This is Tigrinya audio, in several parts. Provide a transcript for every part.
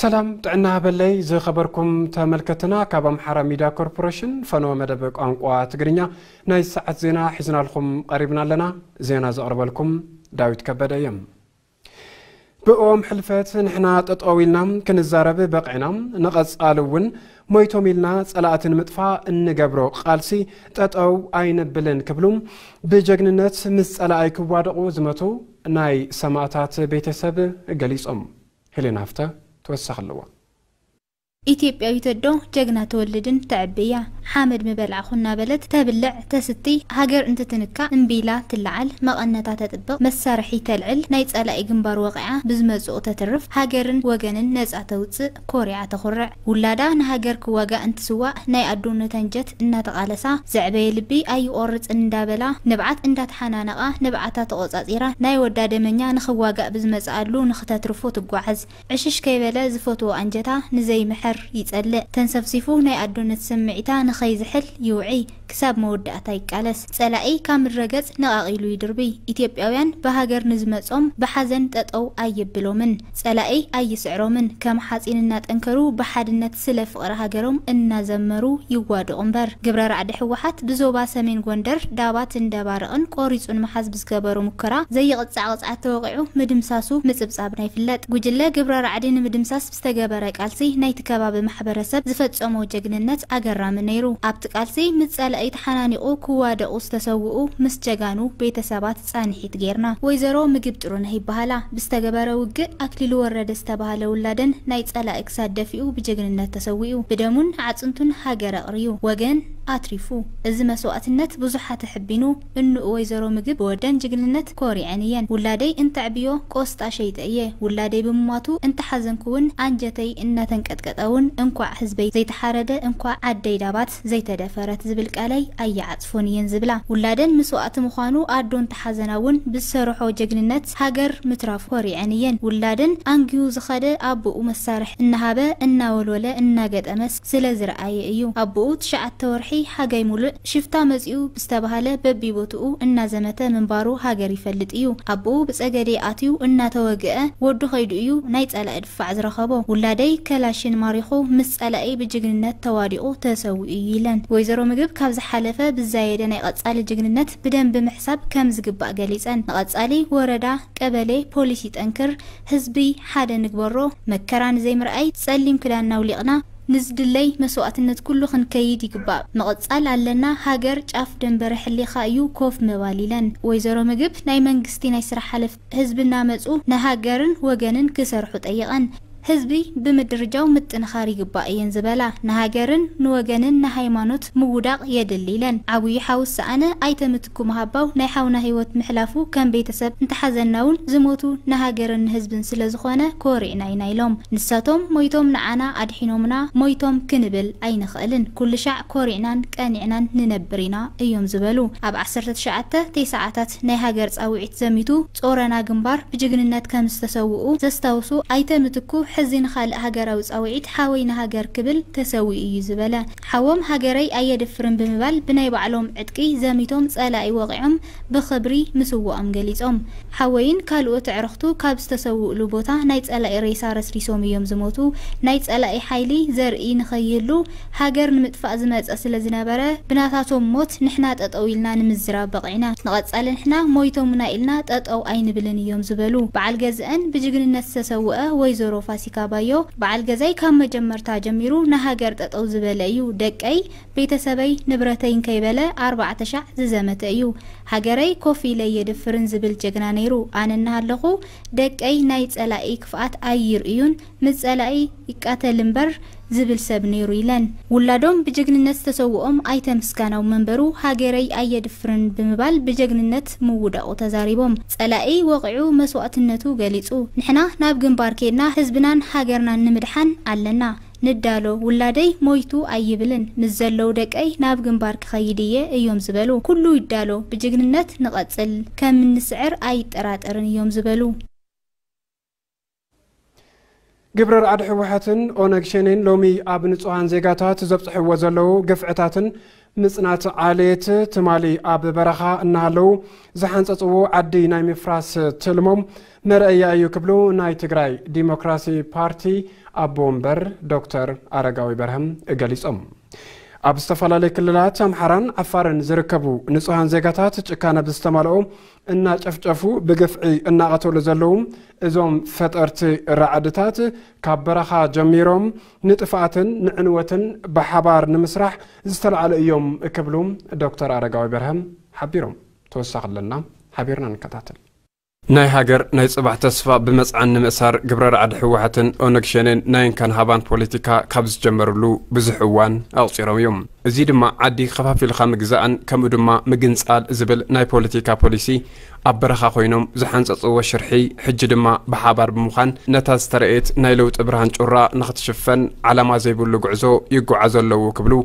ሰላም ጥዕና በለይ ዝኸበርኩም ተመልከትና፣ ካብ ኣምሓራ ሚድያ ኮርፖሬሽን ፈነወ መደብ ቋንቋ ትግርኛ ናይ ሰዓት ዜና ሒዝናልኩም ቀሪብና ኣለና። ዜና ዘቕርበልኩም ዳዊት ከበደ እየ። ብእኦም ሕልፈት ንሕና ጠጠው ኢልና ክንዛረብ በቂዕና፣ ንቐጻሊ እውን ሞይቶም ኢልና ጸላእቲ ንምጥፋእ እንገብሮ ቃልሲ ጠጠው ኣይነብልን ክብሉ ብጀግንነት ምስ ጸላኢ ክዋደቑ ዝመቱ ናይ ሰማእታት ቤተሰብ ገሊጾም። ሄሌና ሃፍተ ተወሳኺ ኣለዋ። ኢትዮጵያዊት ኣዶ ጀግና ትወልድን ተዕብያ። ሓመድ ምበላዕኹ እናበለት ተብልዕ ተስትይ፣ ሃገር እንትትንካእ እምቢ ኢላ ትለዓል፣ መቐነታ ተጥብቕ፣ መሳርሒ ተልዕል፣ ናይ ጸላኢ ግንባር ወቒዓ ብዝመጽኡ ተትርፍ፣ ሃገርን ወገንን ነጻ ተውጽእ፣ ኮሪዓ ተኹርዕ። ውላዳ ንሃገር ክዋጋእ እንትስዋእ ናይ ኣዶነት ኣንጀት እናተቓለሳ፣ ዘዕበየ ልቢ ኣይቆርጽን እንዳበላ ንብዓት እንዳተሓናነቓ ንብዓታ ተቖጻጺራ ናይ ወዳ ደመኛ ንኽዋጋእ ብዝመጽኣሉ ንኽተትርፎ ትጓዓዝ። ዕሽሽ ከይበለ ዝፈትዎ ኣንጀታ ንዘይምሕር ይጸልእ። ተንሰፍሲፉ ናይ ኣዶነት ስምዒታ ንኸይዝሕል ይውዒ። ክሳብ መወዳእታ ይቃለስ። ጸላኢ ካብ ምድረ ገጽ ነቓቒሉ ይድርብይ። ኢትዮጵያውያን ብሃገር ንዝመጾም ብሓዘን ጠጠው ኣይብሎምን። ጸላኢ ኣይስዕሮምን። ከም ሓጺን እናጠንከሩ ብሓድነት ስለ ፍቕሪ ሃገሮም እናዘመሩ ይዋድቑ እምበር። ግብረ ራዕዲ ህወሓት ብዞባ ሰሜን ጎንደር ዳባት እንደባርቕን ቆሪጹ ንምሓዝ ብዝገበሮ ሙከራ ዘይቕጻዕ ቅጽዓት ተወቒዑ ምድምሳሱ ምጽብጻብና ይፍለጥ። ጉጅለ ግብረ ራዕዲ ንምድምሳስ ብዝተገበረ ቃልሲ ናይቲ ከባቢ ማሕበረሰብ ዝፈጸሞ ጀግንነት ኣገራሚ ነይሩ። ኣብቲ ቃልሲ ምስ ጸላኢ ተሓናኒቑ ክዋደቑ ዝተሰውኡ ምስ ጀጋኑ ቤተሰባት ጻንሒት ጌርና። ወይዘሮ ምግብ ጥሩነህ ይበሃላ። ብዝተገበረ ውግእ ኣክሊሉ ወረደ ዝተባህለ ውላደን ናይ ጸላኢ ክሳድ ደፊኡ ብጀግንነት ተሰዊኡ። ብደሙን ኣዕጽንቱን ሃገር ኣቕርዩ። ወገን ኣትሪፉ። እዚ መስዋእትነት ብዙሓት ኣሕቢኑ። እንኡ ወይዘሮ ምግብ ብወደን ጅግንነት ኮሪዐን እየን። ውላደይ እንተዕብዮ ቆስጣ ሸይጠ እየ። ውላደይ ብምሟቱ እንተሓዘንኩ እውን ኣንጀተይ እናተንቀጥቀጠ እውን እንኳዕ ህዝበይ ዘይተሓረደ እንኳዕ ዓደይ ዳባት ዘይተደፈረት ዝብል ቃለይ ኣይዓጽፎን እየን ዝብላ። ውላደን መስዋእቲ ምዃኑ ኣዶ እንተሓዘና እውን ብዝሰርሖ ጀግንነት ሃገር ምትራፉ ኮሪዐን እየን። ውላደን ኣንጊሁ ዝኸደ ኣቦኡ መሳርሒ እናሃበ እናወልወለ እናገጠመ ስለ ዝረኣየ እዩ። ኣቦኡ ትሽዓተ ወርሒ ሓጋይ ሙሉእ ሽፍታ መጺኡ ብዝተባሃለ በቢቦትኡ እናዘመተ ምንባሩ ሃገር ይፈልጥ እዩ። ኣቦኡ ብጸገዴ ኣትዩ እናተወግአ ወዱ ከይዱ እዩ ናይ ጸላኢ ድፋዕ ዝረኸቦ። ውላደይ ከላሽን ማሪኹ ምስ ጸላኢ ብጅግንነት ተዋዲቑ ተሰዊኡ እዩ ኢለን። ወይዘሮ ምግብ ካብ ዝሓለፈ ብዛየደ ናይ ቀጻሊ ጅግንነት ብደንቢ ምሕሳብ ከም ዝግባእ ገሊጸን። ንቐጻሊ ወረዳ፣ ቀበሌ፣ ፖሊስ ይጠንክር፣ ህዝቢ ሓደ ንግበሮ፣ መከራ ንዘይምርኣይ ጸሊም ክዳንና ኣውሊቕና ንዝድለይ መስዋእትነት ኩሉ ክንከይድ ይግባእ። ምቕጻል ኣለና፣ ሃገር ጫፍ ደንበረ ሕሊኻ እዩ ኮፍ ምባል ኢለን። ወይዘሮ ምግብ ናይ መንግስቲ ናይ ስራሕ ሓለፍቲ ህዝቢ እናመጹ ንሃገርን ወገንን ክሰርሑ ጠይቐን። ህዝቢ ብምድርጃው ምጥንኻር ይግባእ እየን ዝበላ። ንሃገርን ንወገንን ንሃይማኖት ምውዳቕ የድሊ ኢለን። ዓብዪ ሓው ዝሰኣነ ኣይተ ምትኩ ምሃባው ናይ ሓውና ህይወት ምሕላፉ ከም ቤተሰብ እንተሓዘና እውን ዝሞቱ ንሃገርን ንህዝብን ስለ ዝኾነ ኮሪዕና ኢና ኢሎም። ንሳቶም ሞይቶም ንዓና ኣድሒኖምና ሞይቶም ክንብል ኣይንኽእልን። ኩሉ ሻዕ ኮሪዕናን ቀኒዕናን ንነብር ኢና እዮም ዝበሉ። ኣብ ዓሰርተ ትሽዓተ ተስዓታት ናይ ሃገር ጻውዒት ዘሚቱ ጾረና ግንባር ብጅግንነት ከም ዝተሰውኡ ዘስታውሱ ኣይተ ምትኩ፣ ሕዚ ንኻልእ ሃገራዊ ጻውዒት ሓወይ ንሃገር ክብል ተሰዊኡ እዩ ዝበለ። ሓዎም ሃገረይ ኣየድፍርን ብምባል ብናይ ባዕሎም ዕጥቂ ዘሚቶም ጸላኢ ወቒዖም ብኽብሪ ምስዋኦም ገሊጾም። ሓወይን ካልኦት ኣዕሩኽቱ ካብ ዝተሰውእሉ ቦታ ናይ ጸላኢ ሬሳ ረስሪሶም እዮም ዝሞቱ። ናይ ጸላኢ ሓይሊ ዘርኢ ንኸይህሉ ሃገር ንምጥፋእ ዝመጸ ስለ ዝነበረ ብናታቶም ሞት ንሕና ጠጠው ኢልና ንምዝራብ በቒዕና። ንቐጻሊ ንሕና ሞይቶምና ኢልና ጠጠው ኣይንብልን እዮም ዝበሉ በዓል ገዝአን ብጅግንነት ዝተሰውአ ወይዘሮ ፋሲካ ባዮ፣ በዓል ገዛይ ካብ መጀመርታ ጀሚሩ ንሃገር ጠጠው ዝበለ እዩ። ደቀይ፣ ቤተሰበይ፣ ንብረተይ እንከይበለ ኣርባዕተ ሻዕ ዝዘመተ እዩ። ሃገረይ ኮፍ ኢለ የድፍርን ዝብል ጀግና ነይሩ። ኣነ እናሃለኹ ደቀይ ናይ ጸላኢ ክፍኣት ኣይርእዩን፣ ምስ ጸላኢ ይቃተል እምበር ዝብል ሰብ ነይሩ ኢለን። ውላዶም ብጀግንነት ዝተሰውኦም ኣይተ ምስጋናው መንበሩ ሃገረይ ኣየድፍርን ብምባል ብጀግንነት ምውዳቑ ተዛሪቦም። ጸላኢ ወቒዑ መስዋእትነቱ ገሊጹ። ንሕና ናብ ግንባር ኬድና ህዝብናን ሃገርናን ንምድሓን ኣለና። ንዳሎ፣ ውላደይ ሞይቱ ኣይብልን፣ ምስ ዘለዉ ደቀይ ናብ ግንባር ክኸይድ እየ እዮም ዝበሉ። ኩሉ ይዳሎ፣ ብጅግንነት ንቐጽል፣ ከም እንስዕር ኣይጠራጠርን እዮም ዝበሉ። ግብረ ራዕዲ ህወሓትን ኦነግ ሸኔን ሎሚ ኣብ ንጹሃን ዜጋታት ዘብጽሕዎ ዘለዉ ግፍዕታትን ምጽናት ዓሌት ትማሊ ኣብ በረኻ እናሃለዉ ዝሓንጸጽዎ ዓዲ ናይ ምፍራስ ትልሞም መርኣያ እዩ ክብሉ ናይ ትግራይ ዲሞክራሲ ፓርቲ ኣቦ ወንበር ዶክተር ኣረጋዊ በርሀም ገሊጾም። ኣብ ዝተፈላለዩ ክልላት ኣምሓራን ዓፋርን ዝርከቡ ንጹሃን ዜጋታት ጭካነ ብዝተማልኦ እናጨፍጨፉ ብግፍዒ እናቐተሉ ዘለዉ እዞም ፈጠርቲ ራዕድታት ካብ በረኻ ጀሚሮም ንጥፍኣትን ንዕንወትን ብሓባር ንምስራሕ ዝተላዕሉ እዮም ክብሉ ዶክተር ኣረጋዊ በርሀም ሓቢሮም። ተወሳኺ ኣለና፣ ሓቢርና ንከታተል። ናይ ሃገር ናይ ጽባሕ ተስፋ ብመጽዓን ንምእሳር ግብረ ራዕዲ ህወሓትን ኦነግ ሸኔን ናይ እንካን ሃባን ፖለቲካ ካብ ዝጀመርሉ ብዙሕ እዋን ኣቑጺሮም እዮም። እዚ ድማ ዓዲ ከፋፊልካ ምግዛእን ከምኡ ድማ ምግንጻል ዝብል ናይ ፖለቲካ ፖሊሲ ኣብ በረኻ ኮይኖም ዝሓንጸጽዎ ሽርሒ፣ ሕጂ ድማ ብሓባር ብምዃን ነታ ዝተረኤት ናይ ለውጢ ብርሃን ጩራ ንኽትሽፈን ዓላማ ዘይብሉ ጉዕዞ ይጓዓዙ ኣለዉ ክብሉ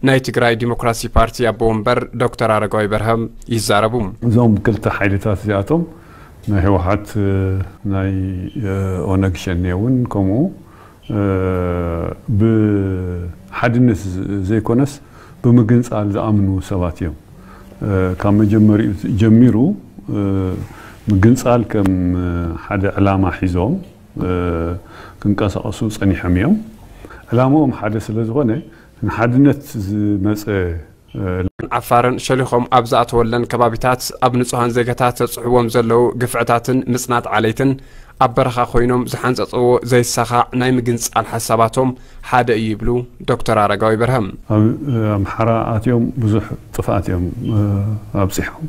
ናይ ትግራይ ዲሞክራሲ ፓርቲ ኣቦ ወንበር ዶክተር ኣረጋዊ በርሀም ይዛረቡ። እዞም ክልተ ሓይልታት እዚኣቶም ናይ ህወሓት፣ እ፣ ናይ፣ እ፣ ኦነግ ሸኔ እውን ከምኡ፣ እ፣ ብሓድነት ዝ-፣ ዘይኮነስ ብምግንጻል ዝኣምኑ ሰባት እዮም። እ፣ ካብ መጀመሪኡ ጀሚሩ፣ እ፣ ምግንጻል ከም፣ እ፣ ሓደ ዕላማ ሒዞም፣ እ፣ ክንቀሳቐሱ ጸኒሖም እዮም። ዕላምኦም ሓደ ስለ ዝኾነ ንሓድነት ዝመጸ፣ እ፣ ዓፋርን ሸሊኾም ኣብ ዝኣተወለን ከባቢታት ኣብ ንጹሃን ዜጋታት ዘብጽሕዎም ዘለዉ ግፍዕታትን ምጽናት ዓሌትን ኣብ በረኻ ኮይኖም ዝሓንጸጽዎ ዘይሳኻዕ ናይ ምግንጻል ሓሳባቶም ሓደ እዩ ይብሉ ዶክተር ኣረጋዊ በርሀም። ኣብ፣ እ፣ ኣምሓራ ኣትዮም ብዙሕ ጥፍኣት እዮም፣ እ፣ ኣብጺሖም።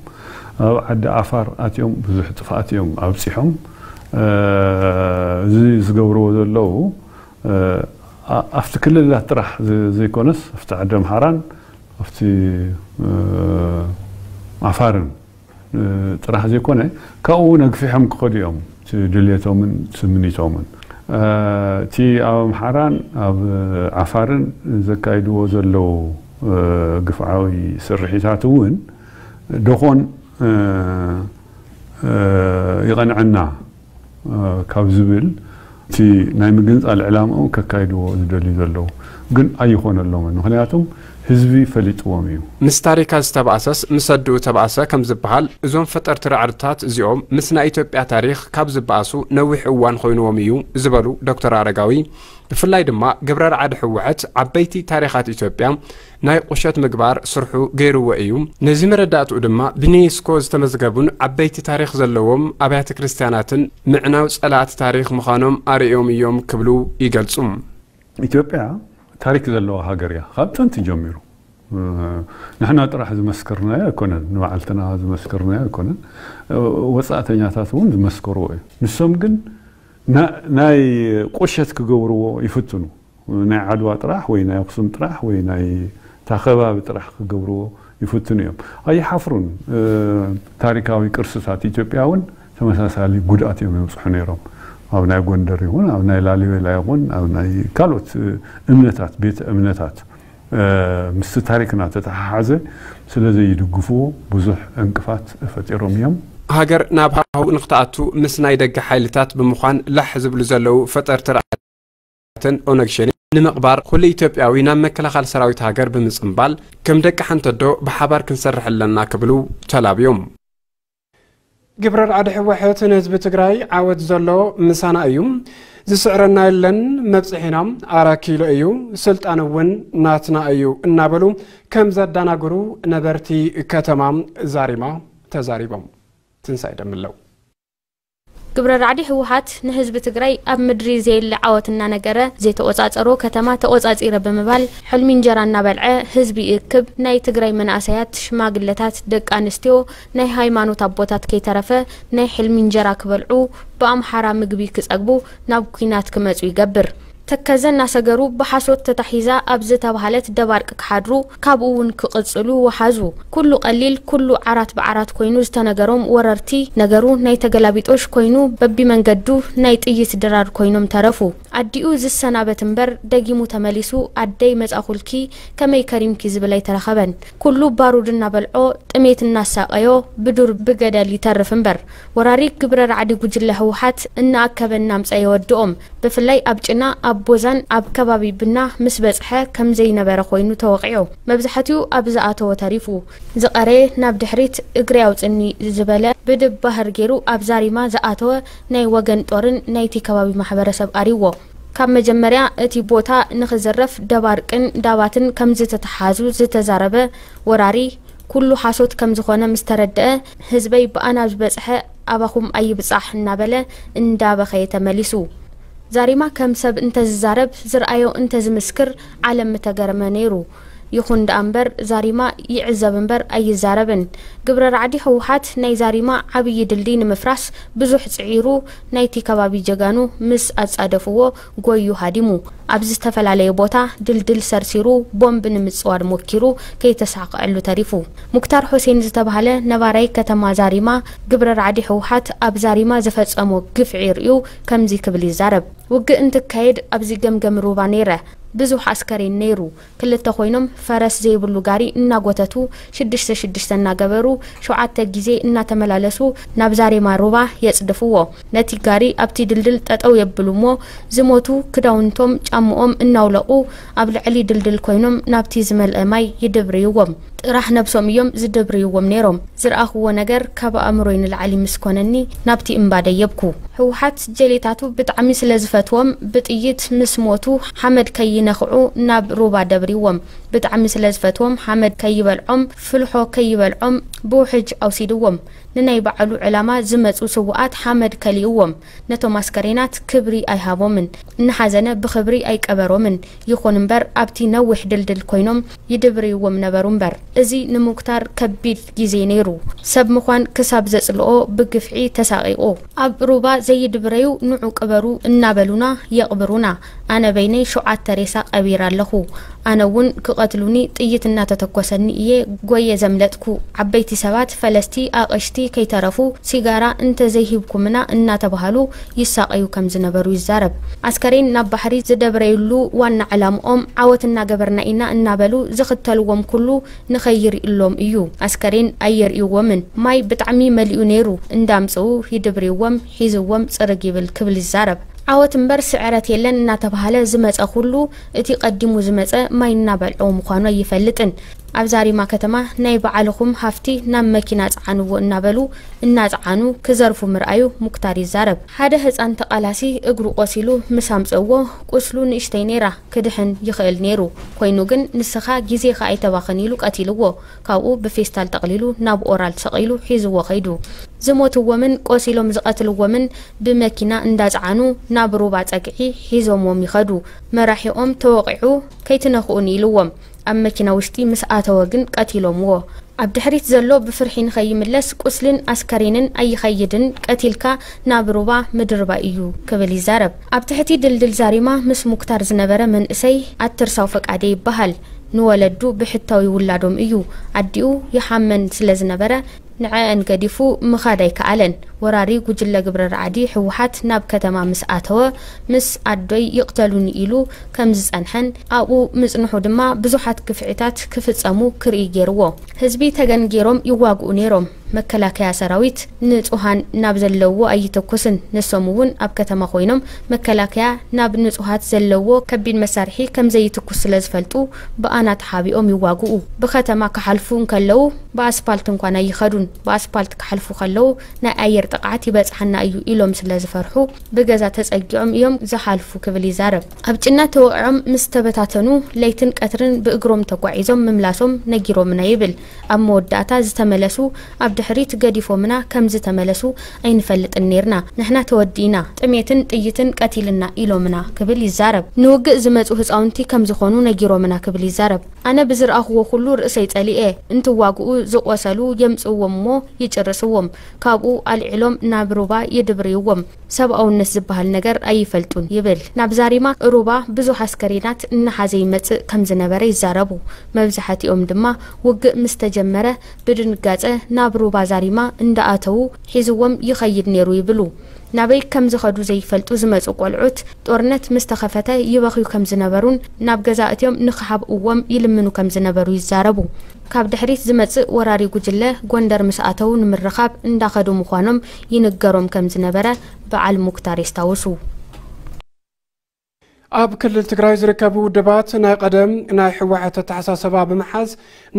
ኣብ ዓዲ ዓፋር ኣትዮም ብዙሕ ጥፍኣት እዮም ኣብጺሖም። እ፣ እዚ ዝገብርዎ ዘለዉ፣ እ፣ ኣ-፣ ኣብቲ ክልላት ጥራሕ ዘ-፣ ዘይኮነስ ኣብቲ ዓዲ ኣምሓራን ኣብቲ፣ እ፣ ዓፋርን፣ እ፣ ጥራሕ ዘይኮነ ካብኡ እውን ኣግፊሖም ክኸዱ እዮም እቲ ድልየቶምን ስምኒቶምን። እ፣ እቲ ኣብ ኣምሓራን ኣብ ዓፋርን ዘካይድዎ ዘለዉ፣ እ፣ ግፍዓዊ ስርሒታት እውን ደኾን፣ እ፣ እ፣ ይቐንዐና፣ እ፣ ካብ ዝብል እቲ ናይ ምግንጻል ዕላምኦም ከካይድዎ ዝደልዩ ዘለዉ ግን ኣይኾነሎምን። ምኽንያቱም ህዝቢ ፈሊጥዎም እዩ። ምስ ታሪካ ዝተባእሰስ ምስ ኣድኡ ተባእሰ ከም ዝበሃል፣ እዞም ፈጠርቲ ራዕድታት እዚኦም ምስ ናይ ኢትዮጵያ ታሪኽ ካብ ዝበኣሱ ነዊሕ እዋን ኮይንዎም እዩ ዝበሉ ዶክተር ኣረጋዊ፣ ብፍላይ ድማ ግብረ ራዕዲ ህወሓት ዓበይቲ ታሪኻት ኢትዮጵያ ናይ ቁሸት ምግባር ስርሑ ገይርዎ እዩ። ነዚ መረዳእትኡ ድማ ብዩኔስኮ ዝተመዝገቡን ዓበይቲ ታሪኽ ዘለዎም ኣብያተ ክርስቲያናትን ምዕናው ጸላእቲ ታሪኽ ምዃኖም ኣርእዮም እዮም ክብሉ ይገልጹ። ኢትዮጵያ ታሪክ ዘለዋ ሃገር እያ ካብ ጥንቲ ጀሚሩ። እ፣ ንሕና ጥራሕ ዝመስከርናዮ ኣይኮነን፣ ንባዕልትና ዝመስከርናዮ ኣይኮነን። እ፣ ወጻእተኛታት እውን ዝመስከርዎ እዩ። ንሶም ግን ና-፣ ናይ ቁሸት ክገብርዎ ይፍትኑ። ናይ ዓድዋ ጥራሕ ወይ ናይ ኣኽሱም ጥራሕ ወይ ናይ እታ ከባቢ ጥራሕ ክገብርዎ ይፍትኑ እዮም። ኣይሓፍሩን። እ፣ ታሪካዊ ቅርስታት ኢትዮጵያ እውን ተመሳሳሊ ጉድኣት እዮም የብጽሑ ነይሮም። ኣብ ናይ ጎንደር ይኹን፣ ኣብ ናይ ላሊበላ ይኹን፣ ኣብ ናይ ካልኦት፣ እ፣ እምነታት፣ ቤተ እምነታት፣ እ፣ ምስቲ ታሪክና ተተሓሓዘ ስለ ዘይድግፍዎ ብዙሕ ዕንቅፋት ፈጢሮም እዮም። ሃገር ናብ ሃሁ ንክትኣቱ ምስ ናይ ደገ ሓይልታት ብምዃን ላሕ ዝብሉ ዘለዉ ፈጠርቲ ራዕድን ኦነግ ሸኔ ንምቕባር ኩሉ ኢትዮጵያዊ ናብ መከላኸሊ ሰራዊት ሃገር ብምጽንባል ከም ደቂ ሓንቲ ኣዶ ብሓባር ክንሰርሕ ኣለና ክብሉ ተላብዮም። ግብረ ራዕዲ ህወሓት ንህዝቢ ትግራይ ዓወት ዘሎ ምሳና እዩ፣ ዝስዕረና የለን፣ መብጽሒና ኣራት ኪሎ እዩ፣ ስልጣን እውን ናትና እዩ እናበሉ ከም ዘዳናግሩ ነበርቲ ከተማ ዛሪማ ተዛሪቦም። ትንሳኤ ደምለው። ግብረ ራዕዲ ህወሓት ንህዝቢ ትግራይ ኣብ ምድሪ ዘየለ ዓወት እናነገረ ዘይተቆጻጸሮ ከተማ ተቆጻጺረ ብምባል ሕልሚ እንጀራ እናበልዐ ህዝቢ ይእክብ፣ ናይ ትግራይ መናእሰያት፣ ሽማግለታት፣ ደቂ ኣንስትዮ፣ ናይ ሃይማኖት ኣቦታት ከይተረፈ ናይ ሕልሚ እንጀራ ክበልዑ፣ ብኣምሓራ ምግቢ ክጸግቡ ናብ ኲናት ክመጹ ይገብር። ተከዘ እናሰገሩ ብሓሶት ተታሒዛ ኣብ ዝተባህለት ደባርቅ ክሓድሩ፣ ካብኡ እውን ክቕጽሉ ወሓዙ። ኩሉ ቀሊል፣ ኩሉ ዓራት ብዓራት ኮይኑ ዝተነገሮም ወረርቲ፣ ነገሩ ናይ ተገላቢጦሽ ኮይኑ በቢመንገዱ ናይ ጥይት ድራር ኮይኖም ተረፉ። ኣዲኡ ዝሰናበት እምበር ደጊሙ ተመሊሱ ኣደይ መጻኹልኪ ከመይ ከሪምኪ ዝብል ኣይተረኸበን። ኩሉ ባሩድ እናበልዖ ጥሜት እናሳቐዮ ብዱር ብገደል ይተርፍ እምበር። ወራሪ ግብረ ራዕዲ ጉጅለ ህወሓት እናኣከበ እናምጸ የወድኦም። ብፍላይ ኣብ ጭና፣ ኣብ ቦዛን ኣብ ከባቢ ብና ምስ በጽሐ ከም ዘይነበረ ኮይኑ ተወቒዑ። መብዛሕትኡ ኣብ ዝኣተወ ተሪፉ። ዝቐረየ ናብ ድሕሪት እግሪ ኣውጽኒ ዝበለ ብድባህር ገይሩ ኣብ ዛሪማ ዝኣተወ ናይ ወገን ጦርን ናይቲ ከባቢ ማሕበረሰብ ኣሪዎ። ካብ መጀመርያ እቲ ቦታ ንኽዝረፍ ደባርቅን ዳባትን ከም ዝተተሓዙ ዝተዛረበ ወራሪ፣ ኩሉ ሓሶት ከም ዝኾነ ምስ ተረድአ፣ ህዝበይ ብኣና ዝበጽሐ ኣባኹም ኣይብጻሕ እናበለ እንዳበኸየ ተመሊሱ። ዛሪማ ከም ሰብ እንተዝዛረብ፣ ዝረኣዮ እንተዝምስክር ዓለም ምተገረመ ነይሩ። ይኹን ደኣ እምበር ዛሪማ ይዕዘብ እምበር ኣይዛረብን። ግብረ ራዕዲ ህወሓት ናይ ዛሪማ ዓብዪ ድልድይ ንምፍራስ ብዙሕ ጽዒሩ፣ ናይቲ ከባቢ ጀጋኑ ምስ ኣጻደፍዎ ጎዩ ሃዲሙ። ኣብ ዝተፈላለየ ቦታ ድልድል ሰርሲሩ ቦምብ ንምጽዋር ሞኪሩ ከይተሳኽዐሉ ተሪፉ። ሙክታር ሑሴን ዝተባህለ ነባራይ ከተማ ዛሪማ ግብረ ራዕዲ ህወሓት ኣብ ዛሪማ ዝፈጸሞ ግፍዒ ርእዩ ከምዚ ክብል ይዛረብ። ውግእ እንትካየድ ኣብዚ ገምገም ሩባ ነይረ። ብዙሕ ኣስከሬን ነይሩ። ክልተ ኮይኖም ፈረስ ዘይብሉ ጋሪ እናጎተቱ ሽዱሽተ ሽዱሽተ እናገበሩ ሸውዓተ ግዜ እናተመላለሱ ናብ ዛሬማ ሩባ የጽድፍዎ። ነቲ ጋሪ ኣብቲ ድልድል ጠጠው የብሉ እሞ ዝሞቱ ክዳውንቶም ጫምኦም እናውለቑ ኣብ ልዕሊ ድልድል ኮይኖም ናብቲ ዝመልአ ማይ ይድብርይዎም። ጥራሕ ነብሶም እዮም ዝድብርይዎም ነይሮም። ዝረኣኽዎ ነገር ካብ ኣእምሮይ ንላዕሊ ምስ ኮነኒ ናብቲ እምባ ደየብኩ። ህወሓት ጀሌታቱ ብጣዕሚ ስለ ዝፈትዎም ብጥይት ምስ ሞቱ ሓመድ ከይነኽዑ ናብ ሩባ ደብርይዎም። ብጣዕሚ ስለ ዝፈትዎም ሓመድ ከይበልዖም ፍልሖ ከይበልዖም ብውሕጅ ኣውሲድዎም። ንናይ ባዕሉ ዕላማ ዝመጹ ስውኣት ሓመድ ከሊእዎም። ነቶም ኣስከሬናት ክብሪ ኣይሃቦምን። እናሓዘነ ብኽብሪ ኣይቀበሮምን። ይኹን እምበር ኣብቲ ነዊሕ ድልድል ኮይኖም ይድብርይዎም ነበሩ እምበር። እዚ ንሙክታር ከቢድ ግዜ ነይሩ። ሰብ ምዃን ክሳብ ዘጽልኦ ብግፍዒ ተሳቒቑ። ኣብ ሩባ ዘይድብረዩ ንዑ ቅበሩ እናበሉና የቕብሩና። ኣነ በይነይ ሸውዓተ ሬሳ ቀቢረ ኣለኹ። ኣነ እውን ክቐትሉኒ ጥይት እናተተኮሰኒ እየ ጎየ ዘምለጥኩ። ዓበይቲ ሰባት፣ ፈለስቲ፣ ኣቐሽቲ ከይተረፉ ሲጋራ እንተዘይሂብኩምና እናተባሃሉ ይሳቐዩ ከም ዝነበሩ ይዛረብ። ኣስከሬን ናብ ባሕሪ ዝደብረዩሉ ዋና ዕላምኦም ዓወት እናገበርና ኢና እናበሉ ዝኽተልዎም ኩሉ ንኸይርእሎም እዩ። ኣስከሬን ኣይርእይዎምን። ማይ ብጣዕሚ መሊኡ ነይሩ። እንዳምጽኡ ይድብርይዎም፣ ሒዝዎም ጽርግ ይብል ክብል ይዛረብ። ዓወት እምበር ስዕረት የለን እናተባሃለ ዝመጸ ኩሉ እቲ ቀዲሙ ዝመጸ ማይ እናበልዖ ምዃኑ ኣይፈልጥን። ኣብ ዛሪማ ከተማ ናይ በዓልኹም ሃፍቲ ናብ መኪና ጽዓንዎ እናበሉ እናጽዓኑ ክዘርፉ ምርኣዩ ሙክታር ይዛረብ። ሓደ ህጻን ተቓላሲ እግሩ ቆሲሉ ምስ ኣምጽእዎ ቁስሉ ንእሽተይ ነይራ፣ ክድሕን ይኽእል ነይሩ። ኮይኑ ግን ንስኻ ግዜኻ ኣይተባኽን ኢሉ ቀቲልዎ። ካብኡ ብፌስታል ጠቕሊሉ ናብ ኦራል ሰቒሉ ሒዝዎ ኸይዱ። ዝሞትዎምን ቆሲሎም ዝቐትልዎምን ብመኪና እንዳጽዓኑ ናብ ሩባ ጸግዒ ሒዞምዎም ይኸዱ። መራሒኦም ተወቒዑ ከይትነኽኡኒ ኢልዎም። ኣብ መኪና ውሽጢ ምስ ኣተወ ግን ቀቲሎምዎ። ኣብ ድሕሪት ዘሎ ብፍርሒ ንኸይምለስ ቁስልን ኣስከሬንን ኣይኸይድን፣ ቀቲልካ ናብ ሩባ ምድርባይ እዩ ክብል ይዛረብ። ኣብ ትሕቲ ድልድል ዛሪማ ምስ ሙክታር ዝነበረ መንእሰይ ኣትርሳው ፈቃደ ይበሃል። ንወለዱ ብሕታዊ ውላዶም እዩ። ኣዲኡ ይሓመን ስለ ዝነበረ ንዐአን ገዲፉ ምኻድ ኣይከኣለን። ወራሪ ጉጅለ ግብረ ራዕዲ ህወሓት ናብ ከተማ ምስ ኣተወ ምስ ኣዶይ ይቕተሉኒ ኢሉ ከም ዝጸንሐን ኣብኡ ምጽንሑ ድማ ብዙሓት ግፍዒታት ክፍጸሙ ክርኢ ገይርዎ። ህዝቢ ተገን ገይሮም ይዋግኡ ነይሮም። መከላከያ ሰራዊት ንጹሃን ናብ ዘለውዎ ኣይትኩስን። ንሶም እውን ኣብ ከተማ ኮይኖም መከላከያ ናብ ንጹሃት ዘለዎ ከቢድ መሳርሒ ከም ዘይትኩስ ስለ ዝፈልጡ ብኣና ተሓቢኦም ይዋግኡ። ብከተማ ክሓልፉ እንከለዉ ብኣስፓልት እንኳን ኣይኸዱን። ብኣስፓልት ክሓልፉ ከለዉ ናይ ኣየር ጥቕዓት ይበጽሓና እዩ ኢሎም ስለ ዝፈርሑ ብገዛ ተጸጊዖም እዮም ዝሓልፉ ክብል ይዛረብ። ኣብ ጭና ተወቒዖም ምስ ተበታተኑ ለይትን ቀትርን ብእግሮም ተጓዒዞም ምምላሶም ነጊሮምና ይብል። ኣብ መወዳእታ ዝተመለሱ ኣብ ድሕሪት ገዲፎምና ከም ዝተመለሱ ኣይንፈልጥን ነይርና። ንሕና ተወዲእና፣ ጥሜትን ጥይትን ቀቲልና ኢሎምና ክብል ይዛረብ። ንውግእ ዝመጹ ህጻውንቲ ከም ዝኾኑ ነጊሮምና ክብል ይዛረብ። ኣነ ብዝረኣኽዎ ኩሉ ርእሰይ ጸሊኤ። እንትዋግኡ ዝቆሰሉ የምጽእዎም እሞ ይጭርስዎም። ካብኡ ኣልዒሎም ናብ ሩባ ይድብርይዎም። ሰብኣውነት ዝበሃል ነገር ኣይፈልጡን ይብል። ናብ ዛሪማ ሩባ ብዙሕ ኣስከሬናት እናሓዘ ይመጽእ ከም ዝነበረ ይዛረቡ። መብዛሕትኦም ድማ ውግእ ምስ ተጀመረ ብድንጋጸ ናብ ሩባ ዛሪማ እንዳኣተዉ ሒዝዎም ይኸይድ ነይሩ ይብሉ። ናበይ ከም ዝኸዱ ዘይፈልጡ ዝመጹ ቆልዑት ጦርነት ምስ ተኸፈተ ይበኽዩ ከም ዝነበሩን ናብ ገዛ እትዮም ንኽሓብእዎም ይልምኑ ከም ዝነበሩ ይዛረቡ። ካብ ድሕሪት ዝመጽእ ወራሪ ጉጅለ ጎንደር ምስ ኣተዉ ንምርኻብ እንዳኸዱ ምዃኖም ይንገሮም ከም ዝነበረ በዓል ሙክታር የስታውሱ። ኣብ ክልል ትግራይ ዝርከቡ ውድባት ናይ ቀደም ናይ ህወሓት ኣተሓሳሰባ ብምሓዝ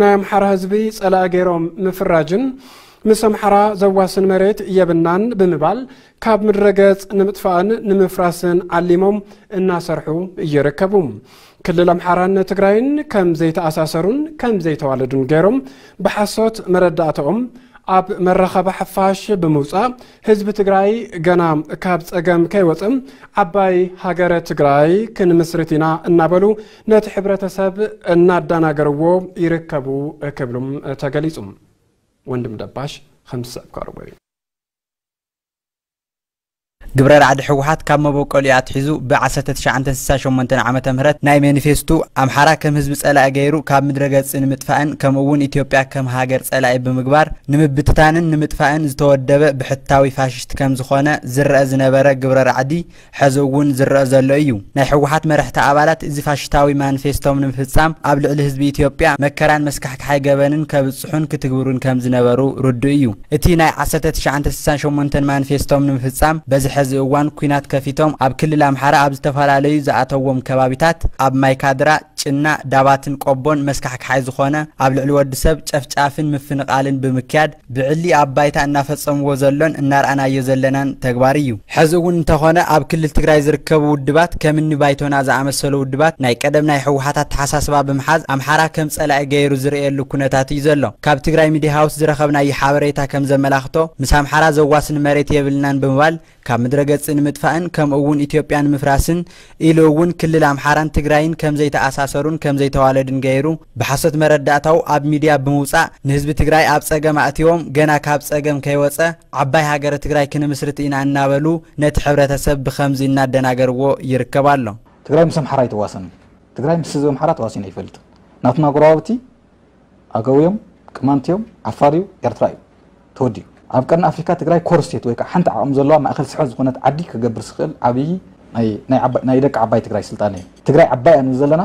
ናይ ኣምሓራ ህዝቢ ጸላኢ ገይሮም ምፍራጅን ምስ ኣምሓራ ዘዋስን መሬት የብናን ብምባል ካብ ምድረ ገጽ ንምጥፋእን ንምፍራስን ዓሊሞም እናሰርሑ ይርከቡ። ክልል ኣምሓራን ትግራይን ከም ዘይተኣሳሰሩን ከም ዘይተዋለዱን ገይሮም ብሓሶት መረዳእታኦም ኣብ መራኸቢ ሓፋሽ ብምውጻእ ህዝቢ ትግራይ ገና ካብ ጸገም ከይወጸ ዓባይ ሃገረ ትግራይ ክንምስርት ኢና እናበሉ ነቲ ሕብረተሰብ እናዳናገርዎ ይርከቡ ክብሉም ተገሊጹ። ወንድም ደባሽ ከም ዝስዕብ ቀርቦ እዩ። ግብረ ራዕዲ ህወሓት ካብ መበቆሊኡ ኣትሒዙ ብ ዓሰርተ ትሽዓተ ስሳ ሸሞንተ ዓመተ ምህረት ናይ ሜኒፌስቱ ኣምሓራ ከም ህዝቢ ጸላኢ ገይሩ ካብ ምድረ ገጽ ንምጥፋእን ከምኡ እውን ኢትዮጵያ ከም ሃገር ጸላኢ ብምግባር ንምብትታንን ንምጥፋእን ዝተወደበ ብሕታዊ ፋሽስት ከም ዝኾነ ዝረአ ዝነበረ ግብረ ራዕዲ ሕዚ እውን ዝረአ ዘሎ እዩ። ናይ ህወሓት መራሕቲ ኣባላት እዚ ፋሽስታዊ ማኒፌስቶም ንምፍጻም ኣብ ልዕሊ ህዝቢ ኢትዮጵያ መከራን መስካሕክሓይ ገበንን ከብጽሑን ክትግብሩን ከም ዝነበሩ ርዱእ እዩ። እቲ ናይ ዓሰርተ ትሽዓተ ስሳን ሸሞንተን ማኒፌስቶም ንምፍጻም በዚ ሕዚ እዋን ኲናት ከፊቶም ኣብ ክልል ኣምሓራ ኣብ ዝተፈላለዩ ዝኣተዎም ከባቢታት ኣብ ማይካድራ፣ ጭና፣ ዳባትን ቆቦን መስካሕክሓይ ዝኾነ ኣብ ልዕሊ ወዲ ሰብ ጨፍጫፍን ምፍንቓልን ብምክያድ ብዕሊ ኣብ ባይታ እናፈጸምዎ ዘሎን እናርኣናዮ ዘለናን ተግባር እዩ። ሕዚ እውን እንተኾነ ኣብ ክልል ትግራይ ዝርከቡ ውድባት ከም እኒ ባይቶና ዝኣመሰሉ ውድባት ናይ ቀደም ናይ ህወሓት ኣተሓሳስባ ብምሓዝ ኣምሓራ ከም ጸላኢ ገይሩ ዝርእየሉ ኩነታት እዩ ዘሎ። ካብ ትግራይ ሚድያ ሃውስ ዝረኸብናዮ ሓበሬታ ከም ዘመላኽቶ ምስ ኣምሓራ ዘዋስን መሬት የብልናን ብምባል ካብ ምድረ ገጽ ንምጥፋእን ከምኡ እውን ኢትዮጵያ ንምፍራስን ኢሉ እውን ክልል ኣምሓራን ትግራይን ከም ዘይተኣሳሰሩን ከም ዘይተዋለዱን ገይሩ ብሓሶት መረዳእታኡ ኣብ ሚድያ ብምውጻእ ንህዝቢ ትግራይ ኣብ ጸገም ኣእትዮም ገና ካብ ጸገም ከይወጸ ዓባይ ሃገረ ትግራይ ክንምስርት ኢና እናበሉ ነቲ ሕብረተሰብ ብኸምዚ እናደናገርዎ ይርከብ ኣሎ። ትግራይ ምስ ኣምሓራ ኣይትዋሰንን። ትግራይ ምስ ህዝቢ ኣምሓራ ተዋሲኑ ኣይፈልጥን። ናትና ጎረባብቲ ኣገው እዮም፣ ቅማንት እዮም፣ ዓፋር እዩ፣ ኤርትራ እዩ። ተወዲኡ። ኣብ ቀርኒ ኣፍሪካ ትግራይ ኮር ስቴት ወይ ከዓ ሓንቲ ዓቕሚ ዘለዋ ማእኸል ስሕበት ዝኾነት ዓዲ ክገብር ዝኽእል ዓብዪ ናይ፣ ናይ ዓባይ፣ ናይ ደቂ ዓባይ ትግራይ ስልጣነ እዩ። ትግራይ ዓባይ እያ ንብል ዘለና።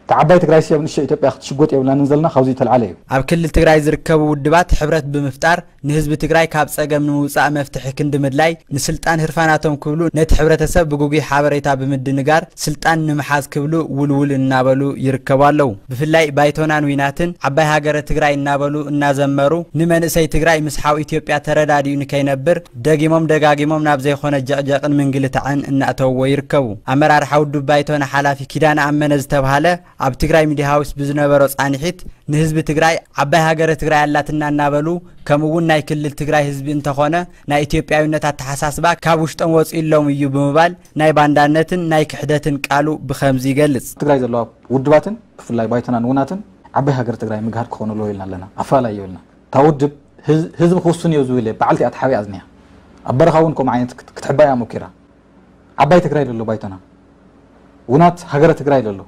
እታ ዓባይ ትግራይ ሲ ኣብ ንእሽቶ ኢትዮጵያ ክትሽጎጥ የብላንን ዘለና፣ ካብዚ ዝተልዓለ እዩ። ኣብ ክልል ትግራይ ዝርከቡ ውድባት ሕብረት ብምፍጣር ንህዝቢ ትግራይ ካብ ጸገም ንምውጻእ መፍትሒ ክንዲ ምድላይ ንስልጣን ህርፋናቶም ክብሉ ነቲ ሕብረተሰብ ብግጉይ ሓበሬታ ብምድንጋር ስልጣን ንምሓዝ ክብሉ ውልውል እናበሉ ይርከቡ ኣለዉ። ብፍላይ ባይቶናን ዊናትን ዓባይ ሃገረ ትግራይ እናበሉ እናዘመሩ ንመንእሰይ ትግራይ ምስ ሓው ኢትዮጵያ ተረዳዲኡ ንከይነብር ደጊሞም ደጋጊሞም ናብ ዘይኮነ ጀቕጀቕን ምንግልታዕን እናእተውዎ ይርከቡ። ኣመራርሓ ውድብ ባይቶና ሓላፊ ኪዳነ ኣመነ ዝተብሃለ ኣብ ትግራይ ሚድያ ሃውስ ብዝነበሮ ጻንሒት ንህዝቢ ትግራይ ዓባይ ሃገረ ትግራይ ኣላትና እናበሉ ከምኡ እውን ናይ ክልል ትግራይ ህዝቢ እንተኾነ ናይ ኢትዮጵያዊነት ኣተሓሳስባ ካብ ውሽጦም ወፂኡሎም እዩ ብምባል ናይ ባንዳነትን ናይ ክሕደትን ቃሉ ብኸምዚ ይገልጽ። ትግራይ ዘለዋ ውድባትን ብፍላይ ባይቶናን ውናትን ዓባይ ሃገረ ትግራይ ምግሃድ ክኾኑ ኣለዎ ኢልና ኣለና። ኣፈላላይ የብልና። እታ ውድብ ህዝ-፣ ህዝቢ ክውስን እዮ ዝብል እየ። በዓልቲ እያ ተሓቢኣ ዝኒሃ። ኣብ በረኻ እውን ከምኡ ዓይነት ክት-፣ ክትሕባ እያ ሞኪራ። ዓባይ ትግራይ ደሎ ባይቶና። ውናት ሃገረ ትግራይ ደሎ።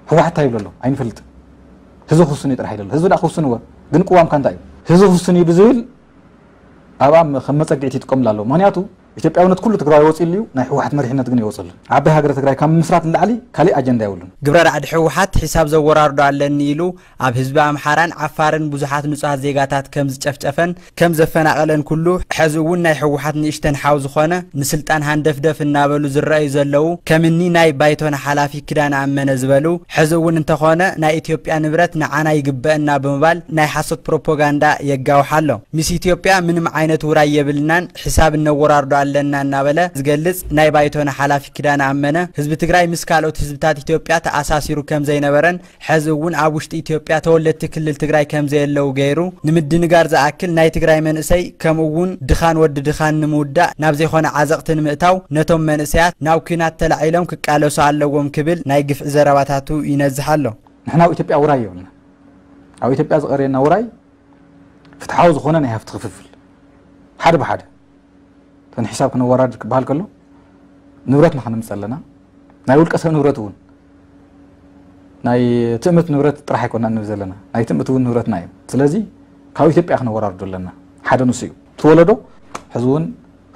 ህወሓት እንታይ ይብሎ ኣሎ? ኣይንፈልጥን። ህዝቢ ክውስን እዩ ጥራሕ ይደሎ። ህዝቢ ደኣ ክውስን እወ። ግን ቅዋምካ እንታይ እዩ? ህዝቢ ክውስን እዩ ብዝብል ኣብኣ ከም መጸግዒት ይጥቀምላ ኣለዉ። ምኽንያቱ ኢትዮጵያውነት ኩሉ ትግራይ ወፂሉ እዩ፣ ናይ ህወሓት መሪሕነት ግን ይወፀሉ። ዓባይ ሃገረ ትግራይ ካብ ምስራት ንላዕሊ ካሊእ ኣጀንዳ የብሉን። ግብረ ራዕዲ ህወሓት ሒሳብ ዘወራርዶ ኣለኒ ኢሉ ኣብ ህዝቢ ኣምሓራን ዓፋርን ብዙሓት ንጹሃት ዜጋታት ከም ዝጨፍጨፈን ከም ዘፈናቐለን ኩሉ፣ ሕዚ እውን ናይ ህወሓት ንእሽተን ሓው ዝኾነ ንስልጣን ሃንደፍደፍ እናበሉ ዝረኣዩ ዘለዉ፣ ከም እኒ ናይ ባይቶና ሓላፊ ኪዳነ ኣመነ ዝበሉ፣ ሕዚ እውን እንተኾነ ናይ ኢትዮጵያ ንብረት ንዓና ይግበአና ብምባል ናይ ሓሶት ፕሮፓጋንዳ የጋውሕ ኣሎ። ምስ ኢትዮጵያ ምንም ዓይነት ውራይ የብልናን፣ ሕሳብ እነወራርዶ ኣለና እናበለ ዝገልጽ ናይ ባይቶና ሓላፊ ኪዳነ ኣመነ፣ ህዝቢ ትግራይ ምስ ካልኦት ህዝብታት ኢትዮጵያ ተኣሳሲሩ ከም ዘይነበረን ሕዚ እውን ኣብ ውሽጢ ኢትዮጵያ ተወለድቲ ክልል ትግራይ ከም ዘየለዉ ገይሩ ንምድንጋር ዝኣክል፣ ናይ ትግራይ መንእሰይ ከምኡ እውን ድኻን ወዲ ድኻን ንምውዳእ ናብ ዘይኮነ ዓዘቕቲ ንምእታው ነቶም መንእሰያት ናብ ኲናት ተላዒሎም ክቃለሱ ኣለዎም ክብል ናይ ግፍዒ ዘረባታቱ ይነዝሕ ኣሎ። ንሕና ኣብ ኢትዮጵያ ውራይ የብልና። ኣብ ኢትዮጵያ ዝቐርየና ውራይ ፍትሓዊ ዝኾነ ናይ ሃፍቲ ክፍፍል፣ ሓደ ብሓደ እተን ሒሳብ ክነወራርድ ክበሃል ከሎ ንብረትና ክነምፅእ ኣለና። ናይ ውልቀ ሰብ ንብረት እውን ናይ ትእምት ንብረት ጥራሕ ኣይኮና ንብል ዘለና፣ ናይ ትእምት እውን ንብረትና እዩ። ስለዚ ካብ ኢትዮጵያ ክነወራርዶ ኣለና። ሓደ ንሱ እዩ። እቲ ወለዶ ሕዚ እውን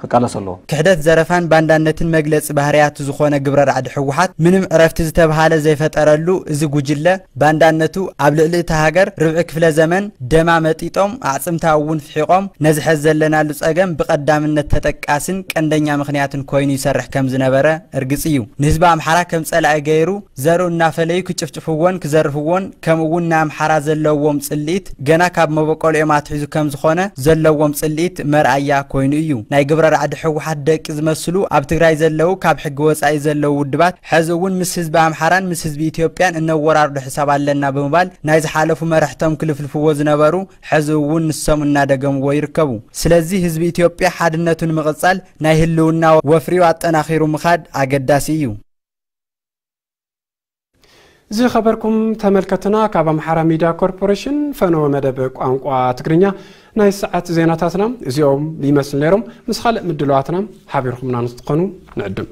ክቃለስ ኣለዎ። ክሕደት፣ ዘረፋን ባንዳነትን መግለፂ ባህርያቱ ዝኾነ ግብረ ራዕዲ ህወሓት ምንም ዕረፍቲ ዝተብሃለ ዘይፈጠረሉ እዚ ጉጅለ፣ ባንዳነቱ ኣብ ልዕሊ እታ ሃገር ርብዒ ክፍለ ዘመን ደማ መጢጦም ኣዕፅምታ እውን ፍሒቖም ነዚ ሐዚ ዘለናሉ ፀገም ብቐዳምነት ተጠቃስን ቀንደኛ ምኽንያትን ኮይኑ ይሰርሕ ከም ዝነበረ እርግፅ እዩ። ንህዝቢ ኣምሓራ ከም ፀላኢ ገይሩ ዘርኡ እናፈለዩ ክጭፍጭፍዎን ክዘርፍዎን፣ ከምኡ እውን ንኣምሓራ ዘለዎም ፅልኢት ገና ካብ መበቆልኦም ኣትሒዙ ከም ዝኾነ ዘለዎም ፅልኢት መርኣያ ኮይኑ እዩ። ናይ ግብረ ራዕዲ ህወሓት ደቂ ዝመስሉ ኣብ ትግራይ ዘለዉ ካብ ሕጊ ወፃኢ ዘለዉ ውድባት ሕዚ እውን ምስ ህዝቢ ኣምሓራን ምስ ህዝቢ ኢትዮጵያን እነወራርዶ ሕሳብ ኣለና ብምባል ናይ ዝሓለፉ መራሕቶም ክልፍልፍዎ ዝነበሩ ሕዚ እውን ንሶም እናደገምዎ ይርከቡ። ስለዚ ህዝቢ ኢትዮጵያ ሓድነቱ ንምቕፃል ናይ ህልውና ወፍሪኡ ኣጠናኺሩ ምኻድ ኣገዳሲ እዩ። ዝኸበርኩም ተመልከትና፣ ካብ ኣምሓራ ሚድያ ኮርፖሬሽን ፈነወ መደብ ቋንቋ ትግርኛ ናይ ሰዓት ዜናታትና እዚኦም ይመስሉ ነይሮም። ምስ ካልእ ምድለዋትና ሓቢርኩምና ንክትኾኑ ንዕድም።